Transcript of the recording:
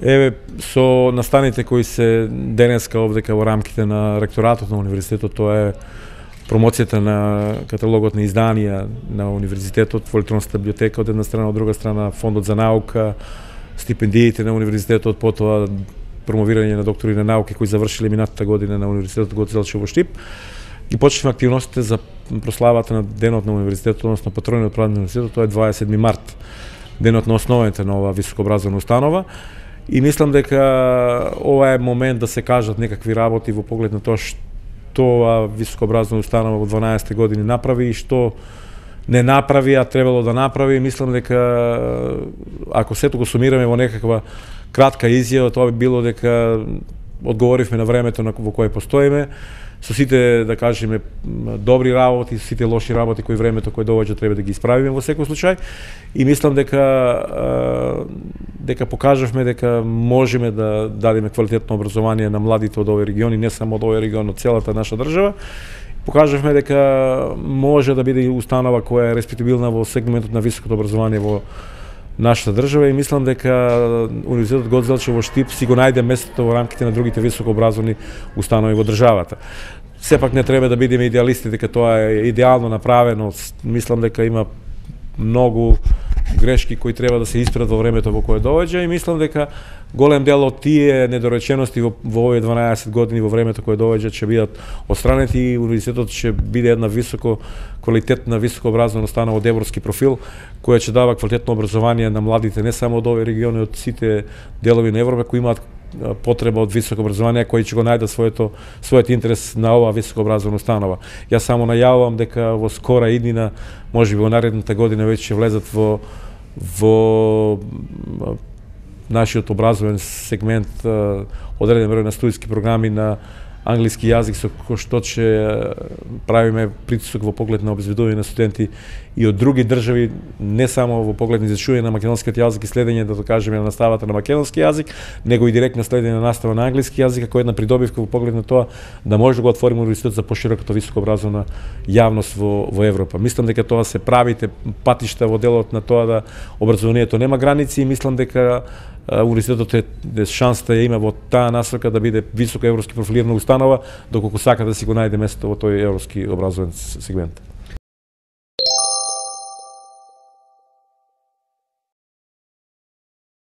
Еве, со настаните кои се денеска овдека во рамките на ректоратот на универзитетот, тоа е промоцијата на каталогот на изданија на универзитетот во електронската библиотека од една страна, од друга страна фондот за наука, стипендиите на универзитетот, потоа промовирање на доктори на науки кои завршиле минатата година на универзитетот Гоце Делчев во Штип. И почнавме активностите за прославата на денот на универзитетот, односно патрониот празник на универзитетот, тоа е 27 март, денот на основите на оваа високообразовна установа. И мислам дека ова е момент да се кажат некакви работи во поглед на тоа што оваа високообразовна установа во 12 години направи и што не направи, а требало да направи. Мислам дека ако сето го сумираме во некаква кратка изјава, тоа би било дека одговоривме на времето во кое постоиме, со сите, да кажеме, добри работи, со сите лоши работи кои времето кое доаѓа треба да ги исправиме во секој случај. И мислам дека покажавме дека можеме да дадеме квалитетно образование на младите од овој регион и не само од овој регион, од целата наша држава. Покажавме дека може да биде установа која е респектабилна во сегментот на високото образование во нашата држава и мислам дека Универзитетот Гоце Делчев во Штип си го најде местото во рамките на другите високообразовни установи во државата. Сепак не треба да бидеме идеалисти дека тоа е идеално направено. Мислам дека има многу грешки кои треба да се исправат во времето во кое доаѓа и мислам дека голем дел од тие недоречености во овие 12 години во времето кое доаѓа ќе бидат отстранети и универзитетот ќе биде една високо квалитетна високообразовна установа од европски профил која ќе дава квалитетно образование на младите не само од овој регион, од сите делови на Европа кои имаат потреба од високо образование, кои ќе го најдат својот интерес на оваа високообразовна установа. Јас само најавувам дека во скора иднина, можеби во наредната година веќе ќе влезат во нашиот образовен сегмент одреден број на студиски програми на англиски јазик со кој што ќе правиме притисок во поглед на обезбедување на студенти и од други држави, не само во поглед на изучување на македонскиот јазик и следење, да кажеме, на наставата на македонски јазик, него и директно следење на настава на англиски јазик, како една придобивка во поглед на тоа да може да го отвориме универзитет за пошироката високообразовна јавност во Европа. Мислам дека тоа се правите патишта во делот на тоа да образованието нема граници и мислам дека универзитетот е шансата ја има во таа насока да биде високо европски профилирана установа, доколку сака да си го најде место во тој европски образовен сегмент.